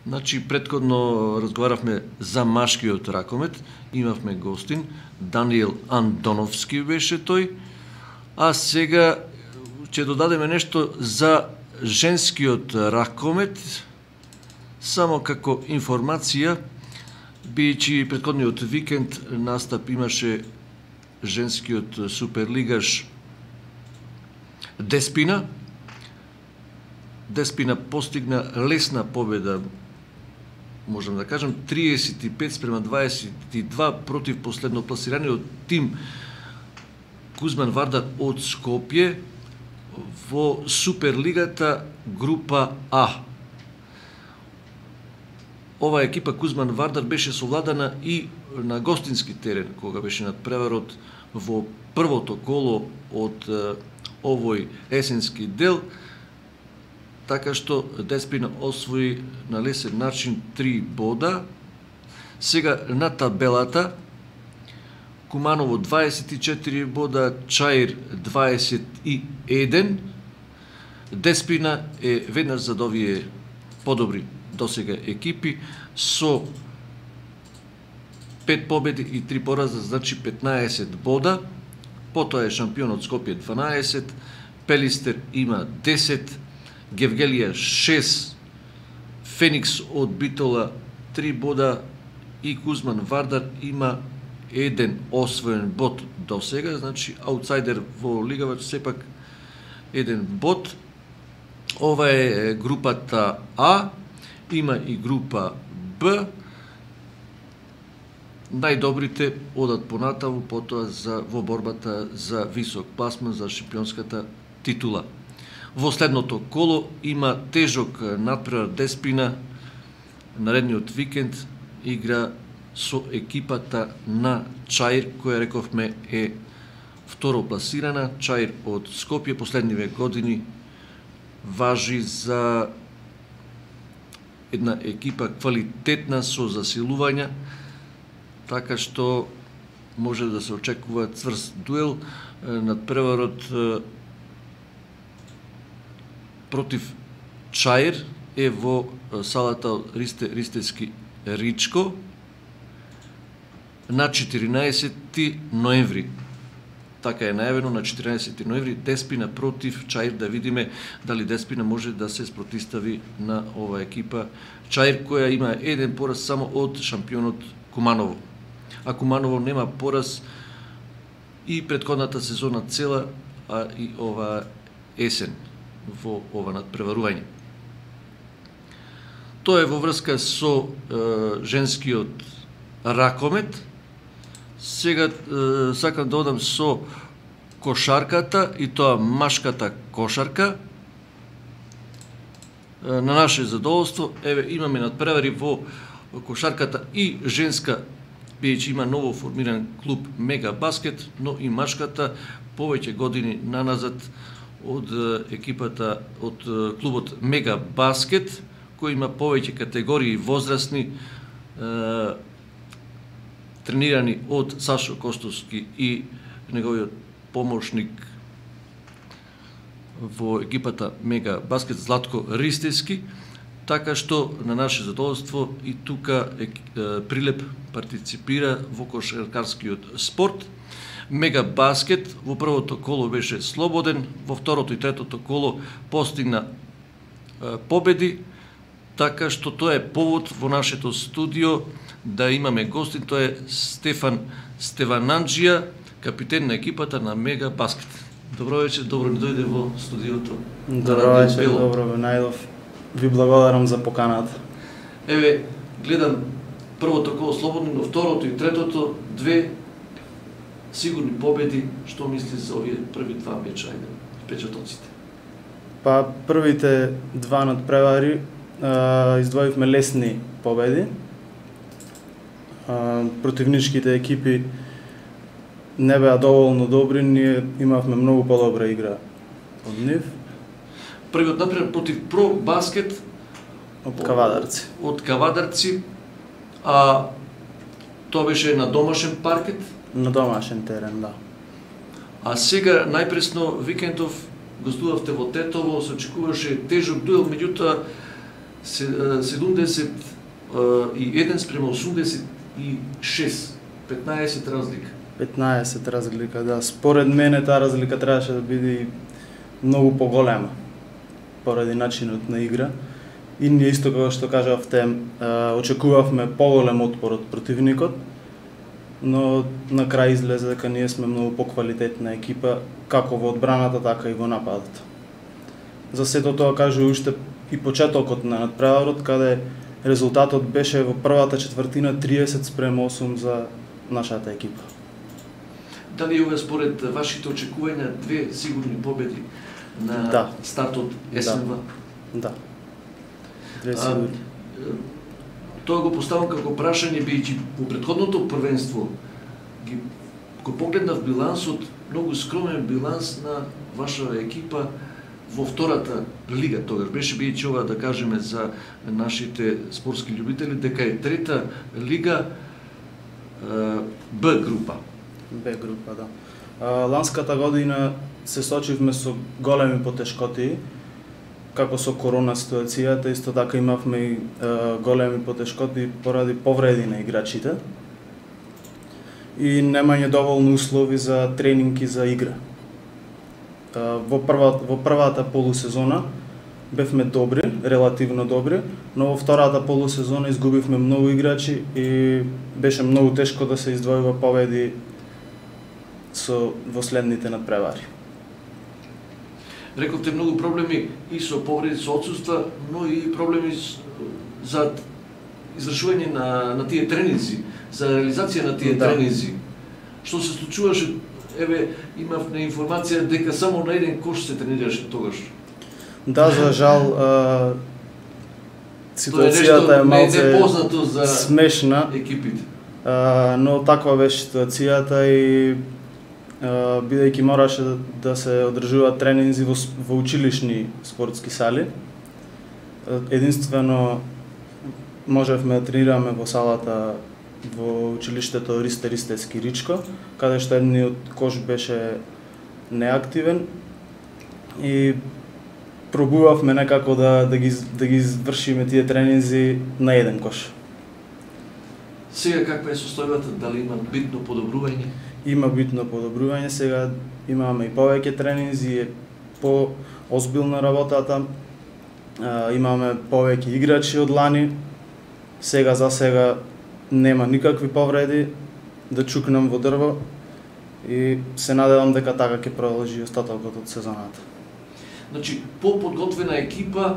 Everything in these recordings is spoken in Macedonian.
Значи, претходно разговаравме за машкиот ракомет, имавме гостин, Даниел Андоновски беше тој, а сега ќе додадеме нешто за женскиот ракомет, само како информација, бидејќи претходниот викенд настап имаше женскиот суперлигаш Деспина. Деспина постигна лесна победа, можам да кажам, 35-22 против последно пласираниот тим Кузман Вардар од Скопје во Суперлигата група А. Ова екипа Кузман Вардар беше совладана и на гостински терен, кога беше надпреварот во првото коло од овој есенски дел, така што Деспина освои на лесен начин 3 бода. Сега на табелата Куманово 24 бода, Чаир 21. Деспина е веднаш зад овие подобри досега екипи со 5 победи и 3 пораза, значи 15 бода. Потоа е шампионот Скопје 12, Пелистер има 10, Гевгелија 6, Феникс од Битола 3 бода и Кузман Вардар има 1 освоен бод до сега, значи аутсайдер во лигава сепак 1 бод. Ова е групата А, има и група Б. Најдобрите одат понатаму потоа во борбата за висок пласман за шампионската титула. Во следното коло има тежок надпревар Деспина. Наредниот викенд игра со екипата на Чаир, која рековме е второ пласирана. Чаир од Скопје последниве години важи за една екипа квалитетна со засилувања, така што може да се очекува цврст дуел. Надпреварот против Чаир е во салата Ристески Ричко на 14 ноември. Така е најавено на 14 ноември Деспина против Чаир, да видиме дали Деспина може да се спротистави на ова екипа Чаир, која има 1 пораз само од шампионот Куманово. А Куманово нема пораз и претходната сезона цела, а и ова есен во ова надпреварување. Тоа е во врска со женскиот ракомет. Сега сакам да одам со кошарката, и тоа машката кошарка. На наше задоволство, еве имаме надпревари во кошарката и женска, бидејќи има ново формиран клуб Мега Баскет, но и машката повеќе години наназад од екипата од клубот Мега Баскет, кој има повеќе категории возрастни, тренирани од Сашо Костовски и неговиот помошник во екипата Мега Баскет Златко Ристески, така што на наше задоволство и тука Прилеп партиципира во кошаркарскиот спорт. Мега Баскет во првото коло беше слободен, во второто и третото коло постигна победи, така што тоа е повод во нашето студио да имаме гостин, тоа е Стефан Стевананџија, капитен на екипата на Мега Баскет. Добро вечер, добро ни дојде во студиото. Добро вечер, добро ве најдов. Ви благодарам за поканата. Еве, гледам првото коло слободно, но второто и третото, 2 сигурни победи. Што мисли за овие први 2 меча, ајде, впечатоците? Па, првите 2 надпревари издвоивме лесни победи. Противничките екипи не беа доволно добри, ние имавме многу подобра игра од нив. Првиот например против Про Баскет од Кавадарци. Од Кавадарци, а тоа беше на домашен паркет? На домашен терен, да. А сега најпресно викендов гостувавте во Тетово, се очекуваше тежок дуел, меѓутоа 71 спрема 86, 15 разлика. 15 разлика, да. Според мене таа разлика требаше да биде многу поголема поради начинот на игра. И ние исто како што кажавте, очекувавме поголем отпор од противникот, но на крај излезе дека ние сме многу поквалитетна екипа, како во одбраната, така и во нападот. За сето тоа кажу уште и почетокот на надпреварот, каде резултатот беше во првата четвртина 30 спрема 8 за нашата екипа. Дали ова според вашите очекувања две сигурни победи на стартот есенва? Да. Две сигурни. Тоа го поставам како прашање, бидејќи по претходното првенство го погледнав билансот, многу скромен биланс на ваша екипа во втората лига тогаш беше, бидејќи ова да кажеме за нашите спортски љубители дека е трета лига Б група. Б група, да. Ланската година се сочивме со големи потешкоти, како со корона ситуацијата, исто така имавме и големи потешкоти поради повреди на играчите и немање доволно услови за тренинг и за игра. Во првата полусезона бевме добри, релативно добри, но во втората полусезона изгубивме многу играчи и беше многу тешко да се издвојува победи во следните надпревари. Рековте многу проблеми и со повреди, со отсуства, но и проблеми за извршување на тие тренинзи, за реализација на тие тренинзи. Што се случуваше, имавме информација дека само на еден кош се тренираше тогаш. Да, за жал, ситуацијата е малце смешна, екипите. Но таква беше ситуацијата и бидејќи мораше да се одржуваат тренинзи во училишни спортски сали. Единствено можевме да тренираме во салата во училиштето Ристе Ричко, каде што едниот кош беше неактивен и пробувавме некако да ги извршиме тие тренинзи на еден кош. Сега каква е состојбата, дали има битно подобрување? Има битно подобрување, сега имаме и повеќе тренинзи, по-озбилна работата, имаме повеќе играчи од лани, сега за сега нема никакви повреди, да чукнам во дрво и се надевам дека така ќе продолжи остатокот од сезоната. Значи, по-подготвена екипа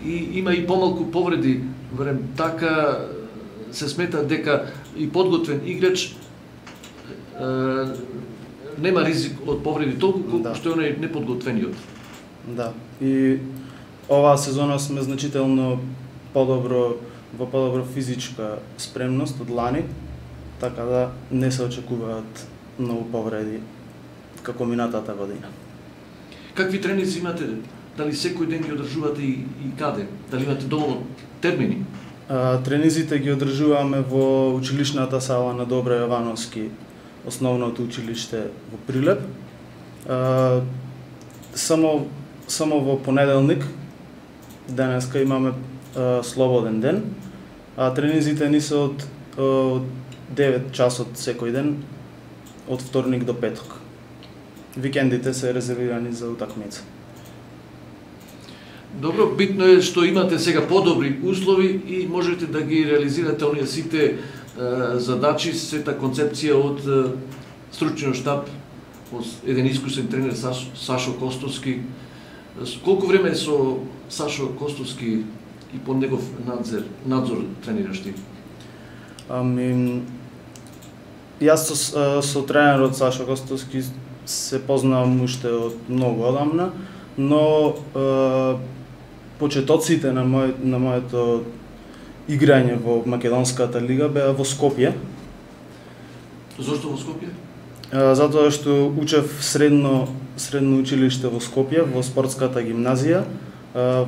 и има и помалку повреди, верем, така се смета дека и подготвен играч нема ризик од повреди толку колку што е оној неподготвениот. Да. И оваа сезона сме значително во подобро физичка спремност од лани, така да не се очекуваат многу повреди како минатата година. Какви тренинзи имате? Дали секој ден ги одржувате и каде? Дали имате доволно термини? Тренинзите ги одржуваме во училишната сала на Добра Јовановски, основното училиште во Прилеп. Само во понеделник, денеска имаме слободен ден, а тренинзите ни се од 9 часот секој ден, од вторник до петок. Викендите се резервирани за утакмица. Добро, битно е што имате сега подобри услови и можете да ги реализирате оние сите задачи, сета концепција од стручниот штаб, од еден искусен тренер Сашо Костовски. Колку време со Сашо Костовски и под негов надзор тренираш ти? Јас со тренерот Сашо Костовски се познавам уште од многу одамна, но почетоците на моето играње во Македонската лига беа во Скопје. Зошто во Скопје? Затоа што учев средно училиште во Скопје, во спортската гимназија,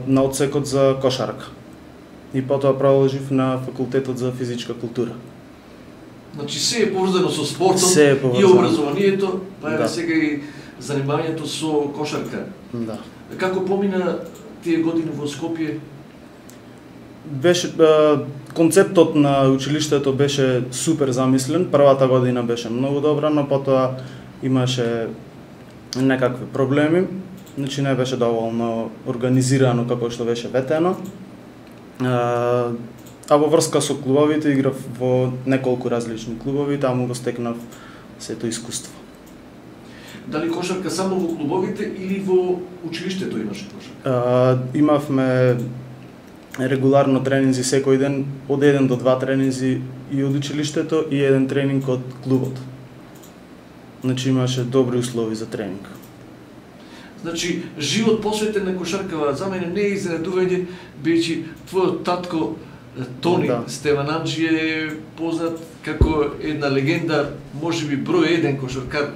на одсекот за кошарка. И потоа продолжив на факултетот за физичка култура. Значи се е поврзано со спортот и образованието, па е сега и занимањето со кошарка. Да. Како помина тие години во Скопје? беше концептот на училиштето беше супер замислен. Првата година беше многу добра, но потоа имаше некакви проблеми. Значи не беше доволно организирано како што беше ветено. А во врска со клубовите играв во неколку различни клубови, таму го стекнав сето искуство. Дали кошарка само во клубовите или во училиштето имаше кошарка? Имавме регуларно тренинзи секој ден, од 1 до 2 тренинзи и од училиштето и 1 тренинг од клубот. Значи имаше добри услови за тренинг. Значи, живот посветен на кошаркава за мене не е изненадување, бидејќи твојот татко Тони Стевананджи е познат како една легенда, можеби број 1 кошаркар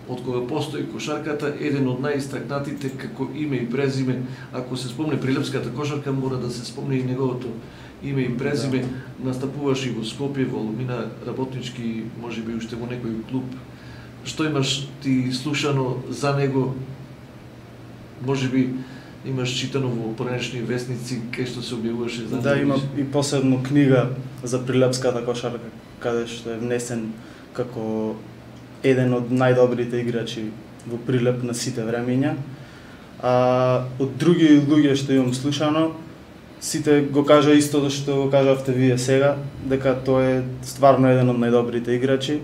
од кога постои кошарката, еден од најистакнатите како име и презиме. Ако се спомне Прилепската кошарка, мора да се спомне и неговото име и презиме. Настапуваш и во Скопје, во Алумина, работнички, можеби уште во некој клуб. Што имаш ти слушано за него? Можеби имаш читано во поранешни вестници кај што се објавуваше за него? Да, има и посебно книга за Прилепската кошарка, каде што е внесен како еден од најдобрите играчи во Прилеп на сите времиња. Од други луѓе што имам слушано, сите го кажа истото што го кажавте вие сега, дека тој е стварно еден од најдобрите играчи,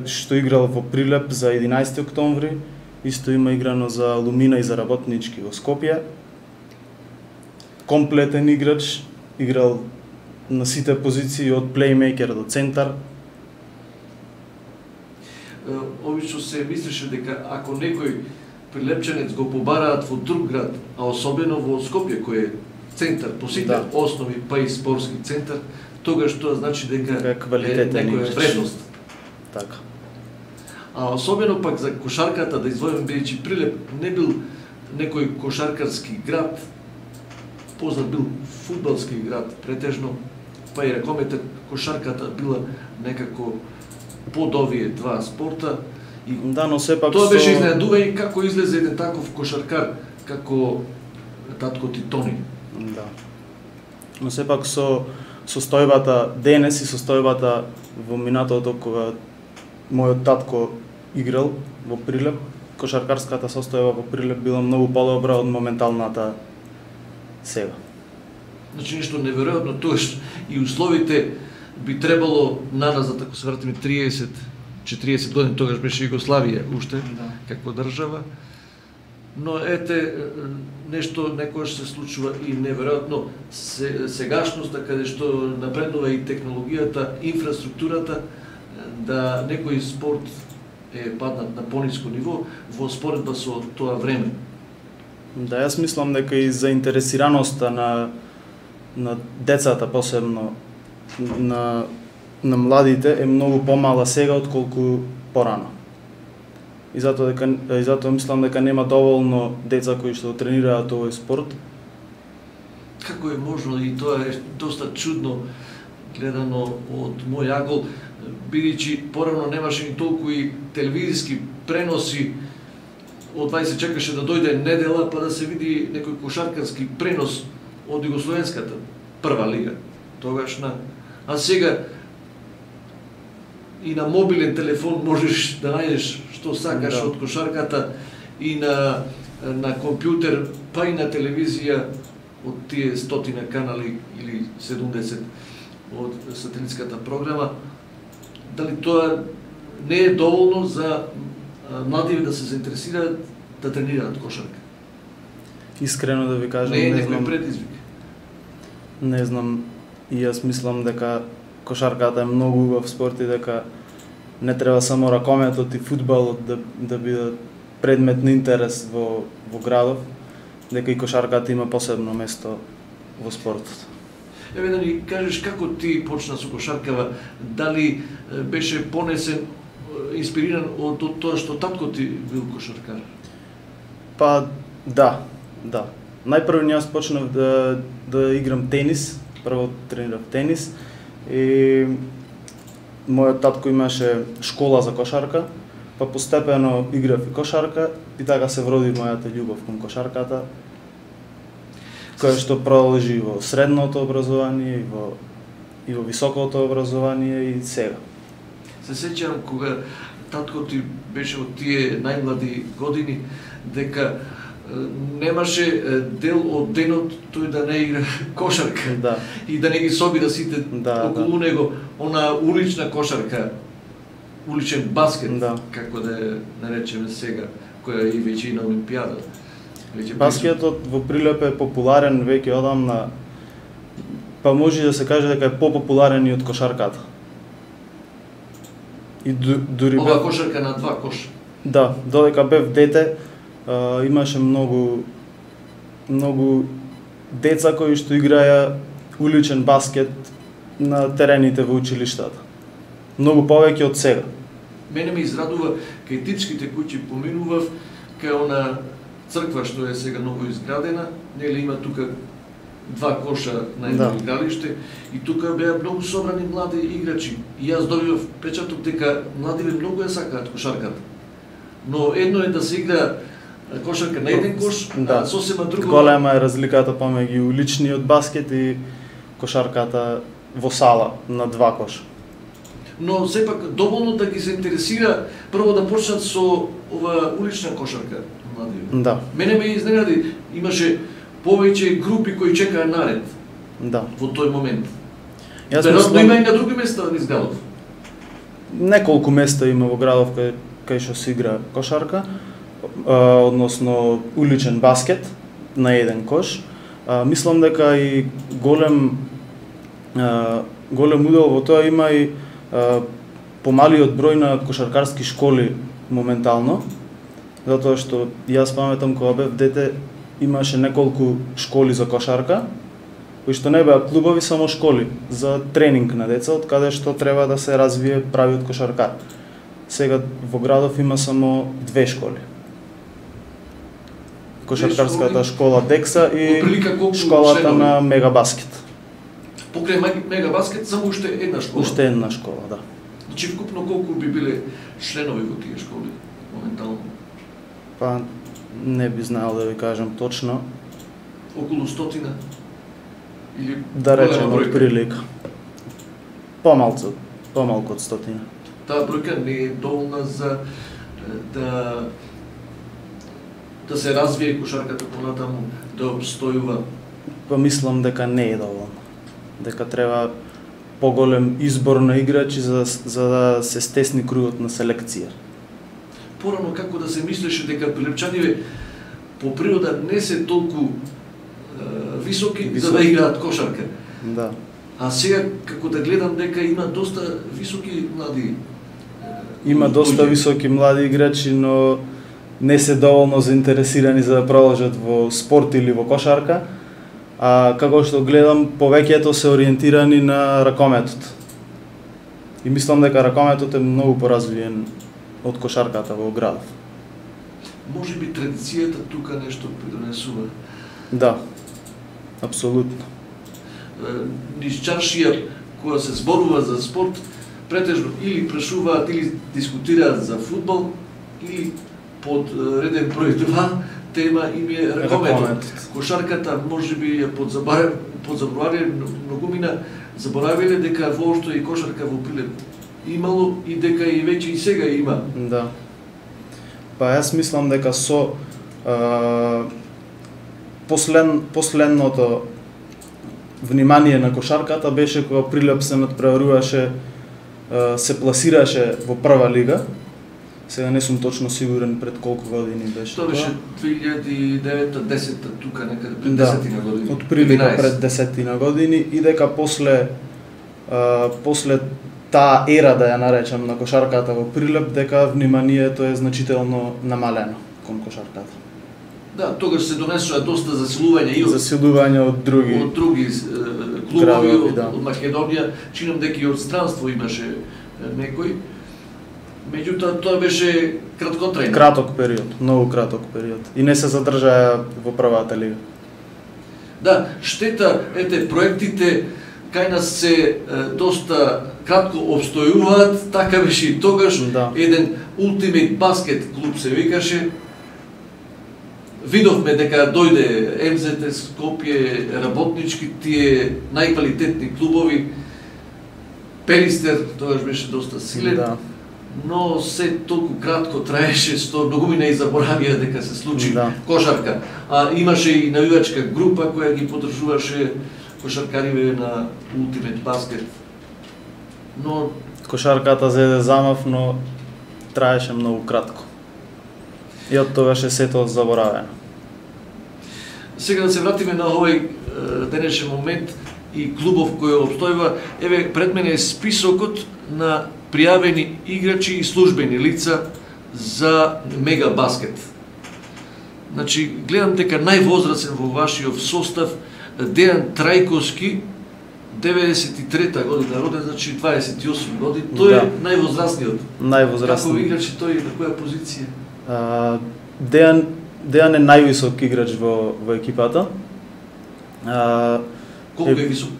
што играл во Прилеп за 11 октомври, исто има играно за Алумина и за Работнички во Скопје. Комплетен играч, играл на сите позиции од плеймейкер до центар. Обично се мислеше дека ако некој прилепчанец го побараат во друг град, а особено во Скопје кој е центар по сите основи па и спортски центар, тогаш тоа значи дека е некоја вредност. Така. А особено пак за кошарката да извојам, бидејќи Прилеп не бил некој кошаркарски град, познат бил фудбалски град претежно, па и ракометот, кошарката била некако под овие два спорта. И да, но сепак тоа беше изненадување како излезе еден таков кошаркар како татко ти Тони. Да. Но сепак со состојбата денес и состојбата во минатото кога мојот татко играл во Прилеп, кошаркарската состојба во Прилеп била многу подобра од моменталната сега. Значи нешто неверојатно, тоаш и условите би требало назад, ако се вратиме 30-40 години, тогаш беше Југославија уште како држава. Но ете, нешто некојаш се случува и неверојатно сегашноста, каде што напреднува и технологијата, инфраструктурата, да некој спорт е паднат на пониско ниво во споредба со тоа време. Да, јас мислам дека и заинтересираноста на децата, посебно на младите, е многу помала сега отколку порано. И затоа мислам дека нема доволно деца кои што тренираат овој спорт. Како е можно, и тоа е доста чудно гледано од мој агол, бидејќи порано немаше ни толку и телевизиски преноси, одвај се чекаше да дојде недела па да се види некој кошаркарски пренос од Југословенската прва лига тогашна. А сега и на мобилен телефон можеш да најдеш што сакаш од кошарката, и на компјутер, па и на телевизија од тие 100 канали или 70 од сателитската програма. Дали тоа не е доволно за младиве да се заинтересираат да тренираат кошарка? Искрено да ви кажам, не е некој предизвик. Не знам, и јас мислам дека кошарката е многу убав спорт и дека не треба само ракометот и фудбалот да бидат предмет на интерес во градов, дека и кошарката има посебно место во спортот. Еве да ни кажеш како ти почна со кошаркава, дали беше понесен, инспириран од тоа што татко ти бил кошаркар? Па да. Најпрво јас почнав да играм тенис, прво тренирав тенис и мојот татко имаше школа за кошарка, па постепено играв и кошарка и така се вроди мојата љубов кон кошарката. која што продолжи во средното образование и во високото образование и сега. Се сеќавам кога татко ти беше од тие најмлади години, дека немаше дел од денот тој да не игра кошарка, Да. и да не ги собира сите околу него, она улична кошарка, уличен баскет, како да ја наречеме сега, која е и веќе и на Олимпијада. Баскетот во Прилеп е популарен веќе одамна, па може да се каже дека е попопуларен и од кошарката. И дури ова кошарка на два коша. Да, додека бев дете, имаше многу деца кои што играја уличен баскет на терените во училиштата. Многу повеќе од сега. Мене ме израдува кај Типските куќи поминував, кај она црква што е сега ново изградена, нели има тука два коша на едно игралиште и тука беа многу собрани млади играчи. И јас добивав печаток дека младиве многу ја сакаат кошарката. Но едно е да се игра кошарка на еден кош, а сосема друго. Голема е разликата помеѓу уличниот баскет и кошарката во сала на два коша. Но сепак доволно да ги заинтересира прво да почнат со ова улична кошарка младиве. Да. Мене ме изненади, имаше повеќе групи кои чекаа наред. Да. Во тој момент. Веројатно има и на други места низ градов. Неколку места има во градов кај што се игра кошарка, односно уличен баскет на еден кош. Мислам дека и голем удел во тоа има и помалиот број на кошаркарски школи моментално, затоа што јас паметам кога бев дете имаше неколку школи за кошарка, кои што не беа клубови, само школи за тренинг на деца, од каде што треба да се развие правиот кошаркар. Сега во градов има само две школи. Кошаркарската школа Декса и школата на Мегабаскет. Покрај Мегабаскет само уште една школа. Уште една школа, да. Значи вкупно колку би биле членови во тие школи моментално? Па не би знаел да ви кажам точно. Околу 100 или да речем од прилика. Помалку од 100. Таа бројка не е доволна за да се развие кошарката понатаму, да обстојува? Па мислам дека не е доволно. Дека треба поголем избор на играчи за да се стесни кругот на селекција. Порано како да се мислеше дека прилепчаниве по природа не се толку високи за да играат кошарка. Да. А сега како да гледам дека има доста високи млади Има доста високи млади играчи, но не се доволно заинтересирани за да продолжат во спорт или во кошарка. А како што гледам, повеќето се ориентирани на ракометот. И мислам дека ракометот е многу поразвиен од кошарката во градов. Може би традицијата тука нешто придонесува. Да, апсолутно. Низ чаршија, кога се зборува за спорт, претежно или прашуваат или дискутираат за фудбал, или под реден број 2 тема им е ракометот. Кошарката може би ја подзаборавиле многумина, заборавиле дека воопшто и кошарка во Прилеп имало и дека и веќе и сега има. Да. Па јас мислам дека со последното внимание на кошарката беше кога Прилеп се надпреваруваше, се пласираше во прва лига. Сега не сум точно сигурен пред колку години беше тоа. Тоа беше 2009-10 тука некаде пред 10 на години. Од прилика пред 10 на години и дека после таа ера, да ја наречам, на кошарката во Прилеп, дека вниманието е значително намалено кон кошарката. Да, тогаш се донесува доста засилување и од други клубови од Македонија, чинам дека и од странство имаше некој. Меѓутоа тоа беше краткотрајно. Краток период, многу краток период. И не се задржаа во првата лига. Да, штета, проектите кај нас се доста кратко обстојуваат, така беше и тогаш. Да. Еден Ultimate Basket клуб се викаше. видовме дека дојде МЗТ Скопје, работнички, тие најквалитетни клубови. Пелистер тогаш беше доста силен, Да. но се толку кратко траеше, што многумина и заборавија дека се случи кошарка. А имаше и навивачка група која ги поддржуваше кошаркариве на Ultimate Basket. Но Кошарката зеде замав, но траеше многу кратко. И од тогаш е сето заборавено. сега да се вратиме на овој денешен момент и клубов кој обстојува. Еве, пред мене е списокот на пријавени играчи и службени лица за Мега Баскет. Значи, гледам дека највозрасен во вашиот состав Дејан Трајковски, 93-та година роден, значи 28 години. Тој е највозрасниот. Највозрасниот. Како играч и тој на која позиција? Дејан е највисок играч во екипата. Колку е висок?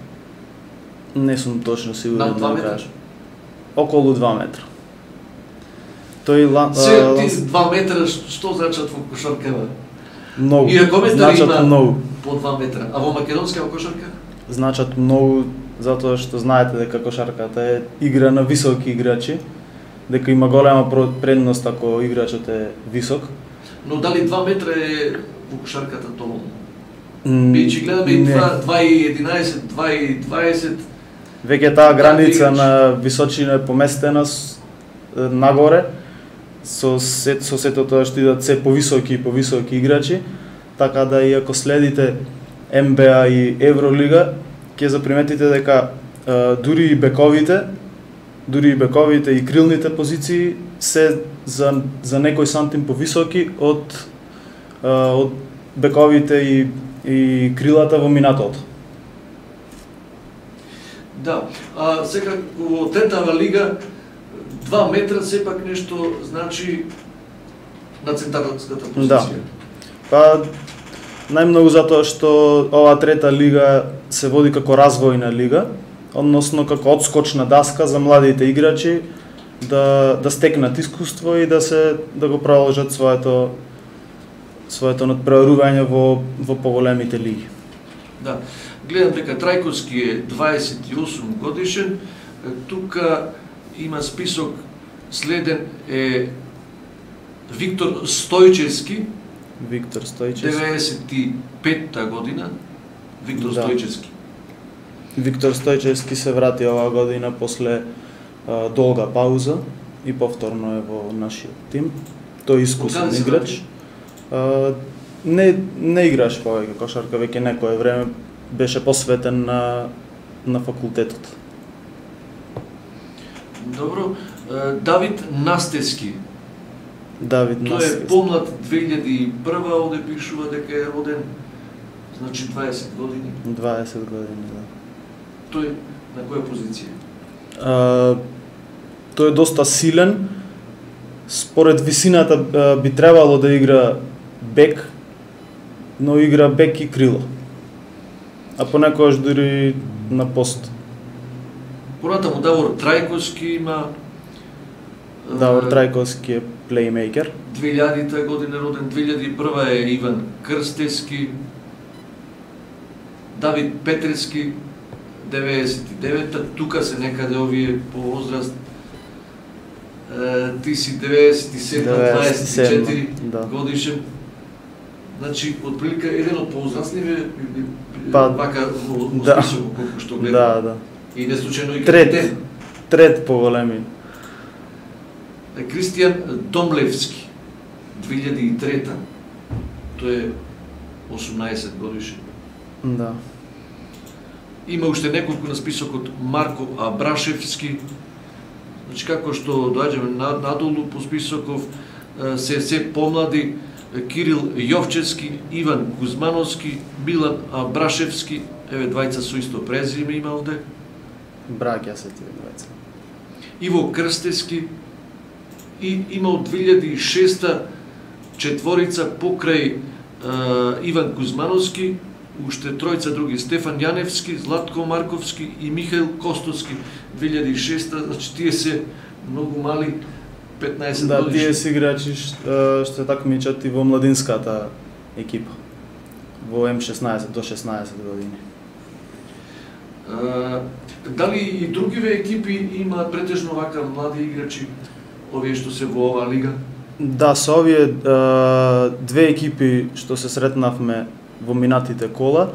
Не сум точно сигурен. На 2 метра? Околу 2 метра. Тој ти 2 метра што значат во кошаркава? Многу. И коментари има многу. По 2 метра. А во македонска кошарка? Значат многу, затоа што знаете дека кошарката е игра на високи играчи, дека има голема предност ако играчот е висок. Но дали 2 метра е во кошарката доволно? Бидејќи гледаме и 2,11, 2,20. Веќе таа граница на височина е поместена нагоре, со сето тоа што идат се повисоки и повисоки играчи, така да и ако следите НБА и Евролига, ќе заприметите дека дури и бековите и крилните позиции се за некој сантим повисоки од бековите и крилата во минатото. Да, а сега во третава лига 2 метра сепак нешто значи на центарската позиција. Да. Па најмногу затоа што оваа трета лига се води како развојна лига, односно како одскочна даска за младите играчи да стекнат искуство и да го продолжат своето надпреварување во поголемите лиги. Да. Гледам дека Трајковски е 28 годишен. Тука има список, следен е Виктор Стојчевски. 95-та година. Виктор Стојчевски. Виктор Стојчевски се врати оваа година после долга пауза и повторно е во нашиот тим. Тој е искусен играч. Не играш повеќе кошарка, веќе некое време беше посветен на факултетот. Добро. Давид Настески. Тој е помлад 2001, овде пишува дека е роден, значи 20 години. 20 години, да. Тој на која позиција? Тој е доста силен. Според висината би требало да игра бек, но игра бек и крило. А понекогаш дури на пост. Понатаму Давор Трајковски има. Давор Трајковски е плеймейкер. 2000-та година роден, 2001 е Иван Крстевски. Давид Петрески, 99-та, тука се некаде овие по возраст. Ти си 97-24 годишен. Значи, отприлика еден од повозрастливе, вака во список, колку што гледам. Да. И не случајно и капитен. Трет поголеми. Кристијан Домлевски, 2003-та. Тој е 18 годишен. Да. Има уште неколку на списокот. Марко Абрашевски. Значи, како што доаѓаме надолу по списоков, се помлади. Кирил Јовчевски, Иван Кузмановски, Милан Абрашевски, еве двајца со исто презиме има овде. Браќа се тие двајца. Иво Крстевски и има од 2006-та четворица покрај Иван Кузмановски, уште тројца други: Стефан Јаневски, Златко Марковски и Михаил Костовски. 2006-та, значи тие се многу мали. 15 да, годишни. тие си играчи што такмичат и во младинската екипа во М16 до 16 години. Дали и другиве екипи имаат претежно вака млади играчи, овие што се во оваа лига? Да, со овие две екипи што се сретнавме во минатите кола,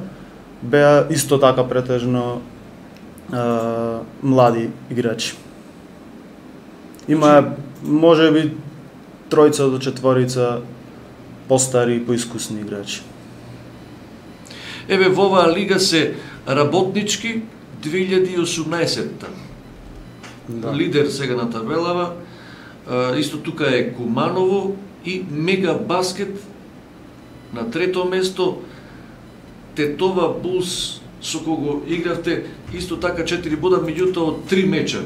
беа исто така претежно млади играчи. Има можеби тројца до четворица постари и поискусни играчи. Еве во оваа лига се Работнички 2018-та. Да. Лидер сега на табелава. Исто тука е Куманово и Мега Баскет на трето место. Тетова Булс со кого игравте исто така 4 бода, меѓутоа од 3 меча.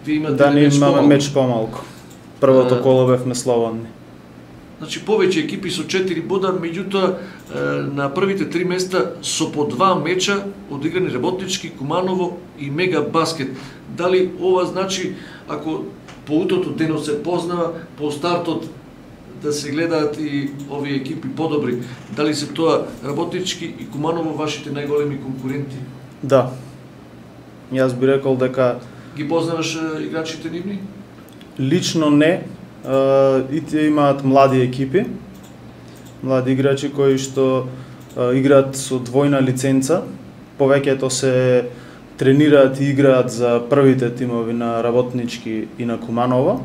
Вие имате Да, ние имаме помалку. меч помалку. Првото коло бевме слободни. Значи повеќе екипи со 4 бода, меѓутоа на првите 3 места со по 2 меча одиграни Работнички, Куманово и Мега Баскет. Дали ова значи, ако по утото денот се познава, по стартот да се гледаат и овие екипи подобри, дали се тоа Работнички и Куманово вашите најголеми конкуренти? Да. Јас би рекол дека Ги познаваш играчите нивни? лично не, и тие имаат млади екипи, млади играчи кои што играат со двојна лиценца, повеќето се тренираат и играат за првите тимови на Работнички и на Куманово,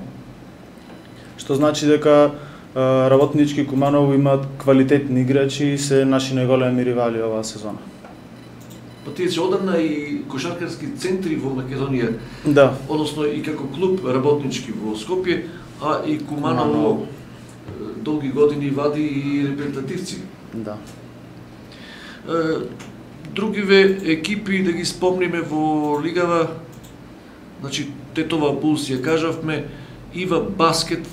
што значи дека Работнички и Куманово имаат квалитетни играчи и се наши најголеми ривали оваа сезона. Па тие се одамна и кошаркарски центри во Македонија, Да. односно и како клуб Работнички во Скопје, а и Куманово долги години вади и репрезентативци. Да. Другиве екипи да ги спомниме во лигава, значи Тетова Булс ја кажавме, Ива Баскет.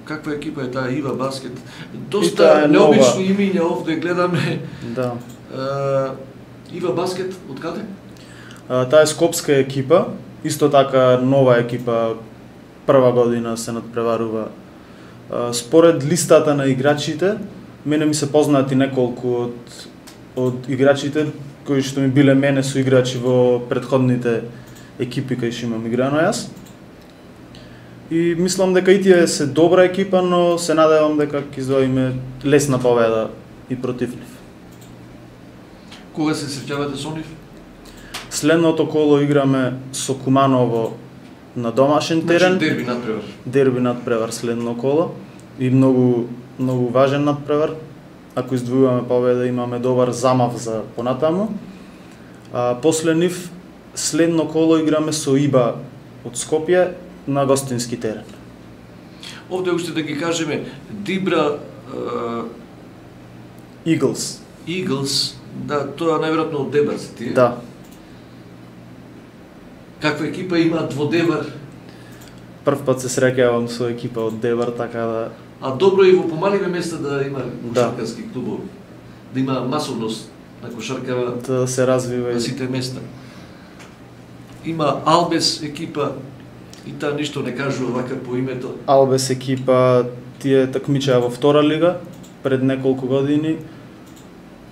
Каква екипа е таа Ива Баскет? Доста необични имиња овде гледаме. Да. Ива Баскет од каде? Таа е скопска екипа, исто така нова екипа, прва година се надпреварува. Според листата на играчите, мене ми се познати неколку од играчите кои што ми биле мене со играчи во претходните екипи кај што имам играно јас. И мислам дека и тие се добра екипа, но се надевам дека ќе извоиме лесна победа и против нив. Кога се среќавате со нив? Следното коло играме со Куманово на домашен терен. Значи дерби надпревар. Дерби надпревар следно коло и многу важен надпревар. Ако издвојуваме победа, имаме добар замав за понатаму. После нив следно коло играме со Иба од Скопје на гостински терен. Овде уште да ги кажеме Дибра Eagles. Eagles, да, тоа најверојатно од Дебар се тие. Да. Каква екипа имаат во Дебар? Прв пат се среќавам со екипа од Дебар, така да... А добро и во помаливе места да има Да. кошаркарски клубови. Да има масовност на кошарка да се развива на и... сите места. Има Албес екипа и таа ништо не кажува вака по името. Албес екипа, тие такмичаа во втора лига пред неколку години.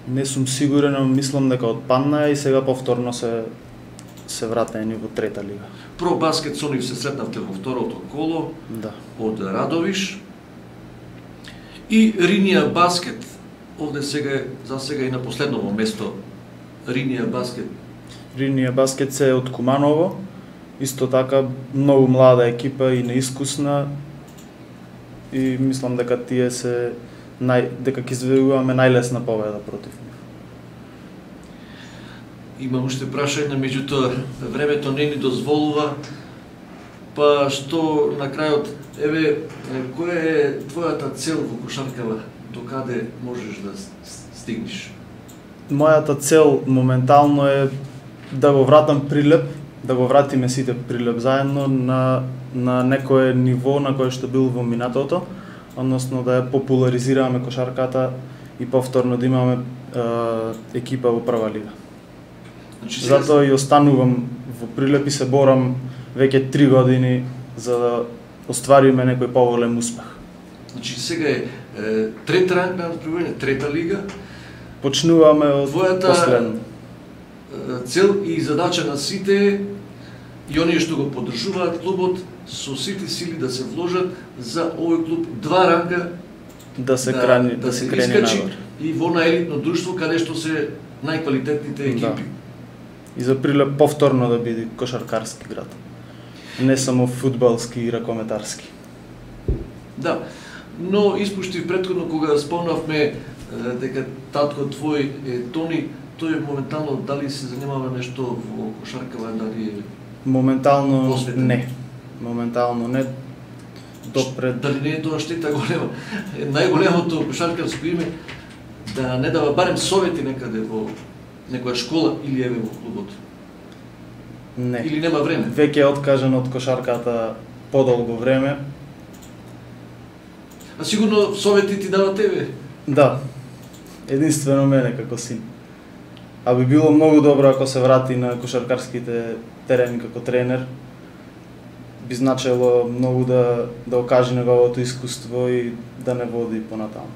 Не сум сигурен, но мислам дека отпаднаа и сега повторно се вратени во трета лига. Про баскет со нив се сретнавте во второто коло Да. од Радовиш. И Ринија Баскет, овде сега за сега и на последново место Ринија Баскет. Ринија Баскет се од Куманово, исто така многу млада екипа и неискусна и мислам дека тие се дека ќе извојуваме најлесна победа против нив. Имам уште прашање, меѓутоа времето не ни дозволува, па што на крајот, еве, која е твојата цел во кошаркава, до каде можеш да стигнеш? Мојата цел моментално е да го вратам Прилеп, да го вратиме сите Прилеп заедно на некое ниво на кое што бил во минатото, односно да ја популаризираме кошарката и повторно да имаме екипа во прва лига. Значи, сега... Затоа и останувам во Прилеп и се борам веќе 3 години за да оствариме некој поголем успех. Значи сега е Трета ранг на надпреварување, трета лига. Почнуваме од Твојата последно. цел и задача на сите е, и оние што го поддржуваат клубот, со сите сили да се вложат за овој клуб 2 ранга Да се крени искачи надвор. и во на елитно друштво каде што се најквалитетните екипи. И за Прилеп повторно да биде кошаркарски град. Не само фудбалски и ракометарски. Да, но испуштив претходно кога спомнавме дека татко твој е Тони, тој моментално дали се занимава нешто во кошаркава, дали е Моментално посветен? не. Моментално не. Допред Дали не е тоа штета голема? Најголемото кошаркарско име да не дава барем совети некаде во некоја школа или еве во клубот. не. Или нема време. Веќе е откажан од кошарката подолго време. А сигурно совети ти дава тебе. Да. Единствено мене како син. А би било многу добро ако се врати на кошаркарските терени како тренер. Би значело многу да окаже неговото искуство и да не води понатаму.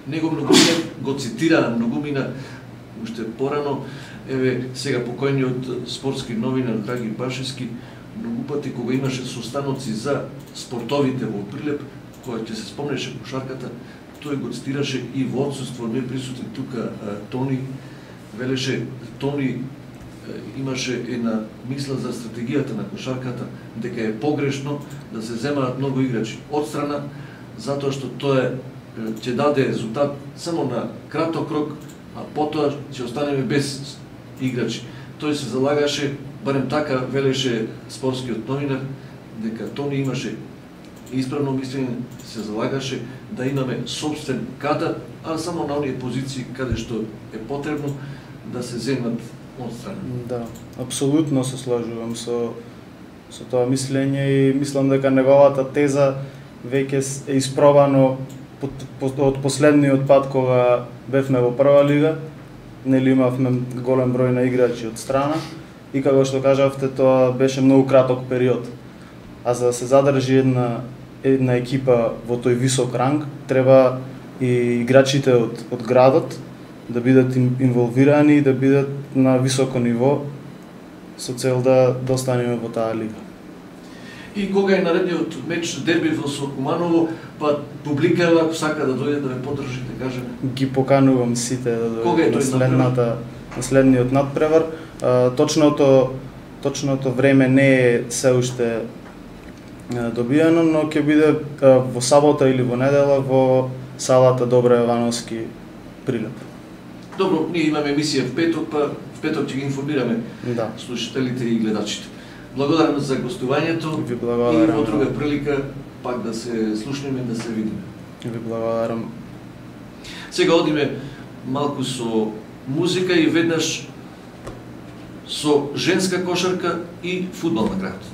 Него многумина го цитира, многумина уште порано, еве сега покојниот спортски новинар Драги Башевски, многу пати кога имаше состаноци за спортовите во Прилеп, кога ќе се спомнеше кошарката, тој го цитираше и во отсуство не присутен тука Тони, велеше Тони имаше една мисла за стратегијата на кошарката, дека е погрешно да се земаат многу играчи од страна, затоа што тоа ќе даде резултат само на краток рок, а потоа ќе останеме без играчи. Тој се залагаше, барем така велеше спортскиот новинар, дека Тони имаше исправно мислење, се залагаше да имаме собствен кадар, а само на оние позиции каде што е потребно да се земат од страна. Да, апсолутно се сложувам со тоа мислење и мислам дека неговата теза веќе е испробано од последниот пат кога бевме во прва лига, нели имавме голем број на играчи од страна и како што кажавте тоа беше многу краток период. А за да се задржи една екипа во тој висок ранг, треба и играчите од градот да бидат инволвирани и да бидат на високо ниво со цел да останеме во таа лига. И кога е наредниот меч дерби во Сокуманово, па публика ако сака да дојде да ме поддржи, да кажем. Ги поканувам сите да Кога е дојдат тој на следниот надпревар. Точното време не е се уште добиено, но ќе биде во сабота или во недела во салата Добра Јовановски Прилеп. Добро, ние имаме емисија в петок, па в петок ќе ги информираме Да. слушателите и гледачите. Благодарам за гостувањето Ви и благодарам. во друга прилика пак да се слушнеме, да се видиме. Ви благодарам. Сега одиме малку со музика и веднаш со женска кошарка и фудбал на крајот.